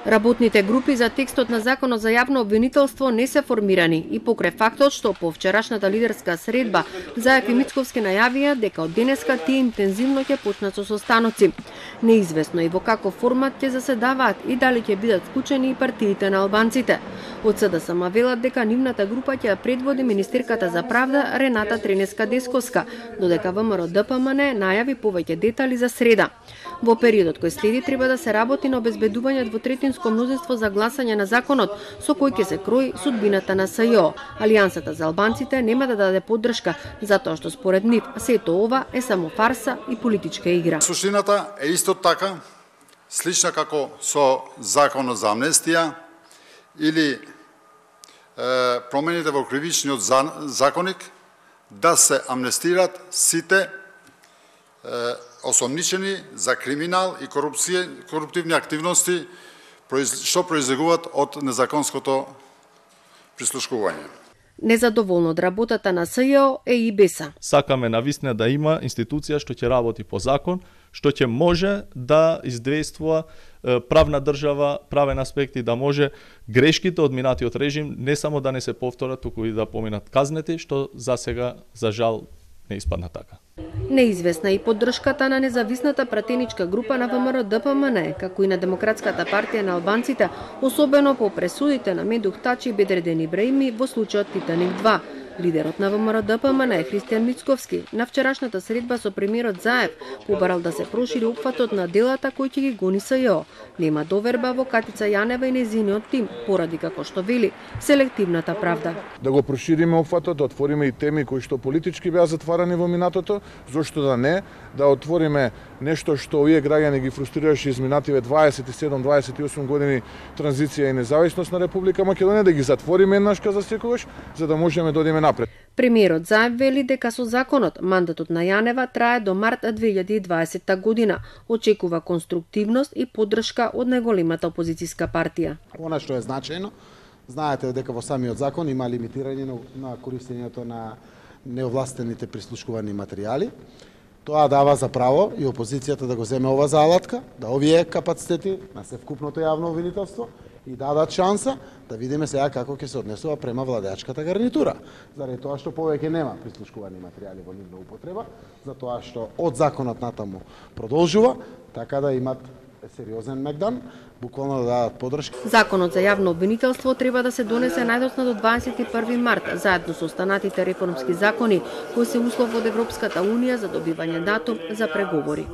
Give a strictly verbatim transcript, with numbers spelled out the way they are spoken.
Работните групи за текстот на Законот за јавно обвинителство не се формирани и покрај фактот што по вчерашната лидерска средба Заев и Мицковски најавија дека од денеска тие интензивно ќе почнат со состаноци. Неизвестно е во каков формат ќе заседаваат и дали ќе бидат вклучени и партиите на албанците. Од СДСМ велат дека нивната група ќе ја предводи министерката за правда Рената Тренеска-Десковска, додека ВМРО Д П М Н најави повеќе детали за среда. Во периодот кој следи треба да се работи на обезбедување двотретинско мнозинство за гласање на законот со кој ќе се крои судбината на С Ј О. Алијансата за албанците нема да даде поддршка затоа што според нив сето ова е само фарса и политичка игра. Суштината е исто така слична како со законот за амнестија или е, промените во кривичниот законник да се амнестират сите е, осомничени за криминал и корупција, коруптивни активности што произлегуваат од незаконското прислушкување. Незадоволно од работата на С Ј О е и Беса. Сакаме навистина да има институција што ќе работи по закон, што ќе може да издействува правна држава, правен аспекти, да може грешките од минатиот режим не само да не се повторат, туку и да поминат казнети, што за сега, за жал, не испадна така. Неизвестна и поддршката на независната пратеничка група на ВМРО Д П М Н, како и на Демократската партија на албанците, особено по пресудите на Медух Тачи и Бедреден Ибраими во случајот Титаник два. Лидерот на ВМРО Д П М Н Христијан Мицковски на вчерашната средба со премиерот Заев побарал да се прошири опфатот на делата кои ќе ги гони С Ј О. Нема доверба во Катица Јанева и незиниот тим, поради како што вели селективната правда. Да го прошириме опфатот, да отвориме и теми кои што политички беа затварани во минатото, зошто да не, да отвориме нешто што овие граѓани ги фрустрираше изминативе дваесет и седум дваесет и осум години транзиција и независност на Република Македонија, да ги затвориме еднашка за секогаш, за да можеме да одиме напред. Премиерот Заев вели дека со законот мандатот на Јанева трае до март две илјади и дваесетта година. Очекува конструктивност и поддршка од најголемата опозицијска партија. Она што е значајно, знаете дека во самиот закон има лимитирање на користењето на неовластените прислушкувани материјали. Тоа дава за право и опозицијата да го земе ова за алатка, да овие капацитети на севкупното јавно обвинителство и дадат шанса да видиме сега како ќе се однесува према владеачката гарнитура. Заради тоа што повеќе нема прислушкувани материјали во нивна употреба, затоа што од законот натаму продолжува, така да имат сериозен мегдан, буквално да дадат поддршка. Законот за јавно обвинителство треба да се донесе најдоцна до дваесет и први март, заедно со останатите реформски закони, кои се услов од Европската унија за добивање датум за преговори.